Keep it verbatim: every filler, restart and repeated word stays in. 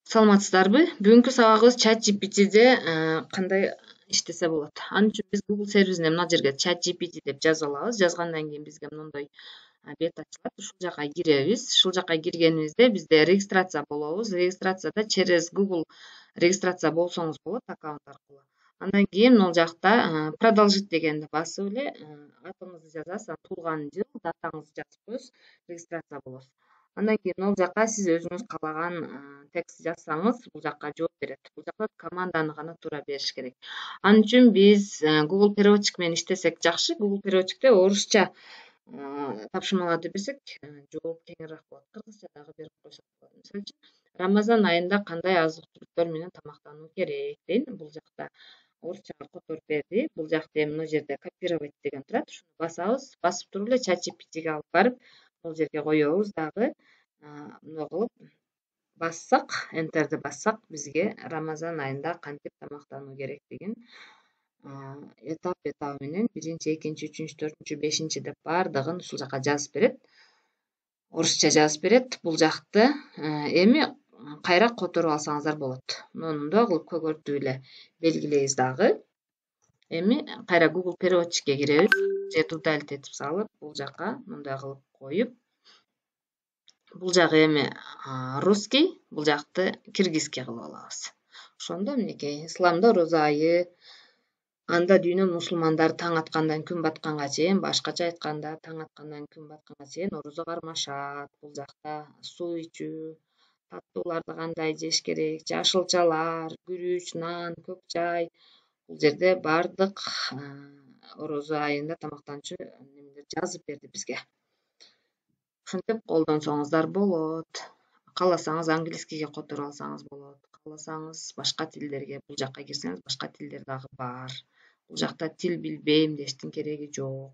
Саламатсыздарбы? Бүгүнкү сабагыбыз ChatGPT'де кандай иштесе болот. Ал үчүн биз Google сервисине мына жерге ChatGPT деп жазып алабыз. Жазгандан кийин бизге мындай бет ачылат. Ушул жака киребиз. Ушул жака киргенибизде бизде регистрация болобуз. Регистрацияда через Google регистрация болсоңуз болот аккаунт аркылуу. Андан кийин могул жакта продолжить дегенди басып эле атыңызды жазасыз, анан туулган жыл, датаңызды жазып коесуз, регистрация болосуз. Андан кийин могул жака сиз өзүңүз каалаган текст жазсаңыз, бул жака жооп берет. Бул жакта команданы гана туура бериш керек. Ал үчүн биз Google переводчик менен иштесек жакшы. Google переводчикте орусча тапшырмаларды берсек, жооп кеңирээк болот. Кыргызча дагы берип койсок болот. Мисалы үчүн, Рамазан айында кандай азык-түлүктөр менен тамактануу керек дейм. Бул жакта орусчага которуп берди. Бул жакта эми мына жерде копировать деген турат. Ушуну басабыз. Басып туруп эле ChatGPT'ге алып барып, бул жерге коебуз дагы. Мындай кылып бассак, энтерди бассак, бизге Рамазан айында кантип тамактануу керектигин этап этабы менен биринчи, экинчи, үчүнчү, төртүнчү, бешинчи деп баардыгын ушул жака жазып берет. Орусча жазып берет. Бул жакты эми кайра которуп алсаңыздар болот. Муну мындай кылып көгөртүп эле белгилейбиз дагы. Эми кайра Google переводчикке киребиз. Же удалить этип салып, бул жака мындай кылып коюп, бул жагы эми русский, бул жакты киргизский кылып алабыз. Ошондо минекей исламда роза айы, анда дүйнө мусулмандары таң аткандан күн батканга чейин, башкача айтканда таң аткандан күн батканга чейин орозо кармашат. Бул жакта суу ичүү, таттууларды кандай жеш керек, жашылчалар, күрүч, нан, көк чай. Бул жерде бардык орозо айында тамактанчу немелер жазып берди бизге. Ушинтип колдонсоңуздар болот. Кааласаңыз английскийге которуп алсаңыз болот. Кааласаңыз башка тилдерге, бул жака кирсеңиз башка тилдер дагы бар. Бул жакта тил билбейм дештин кереги жок.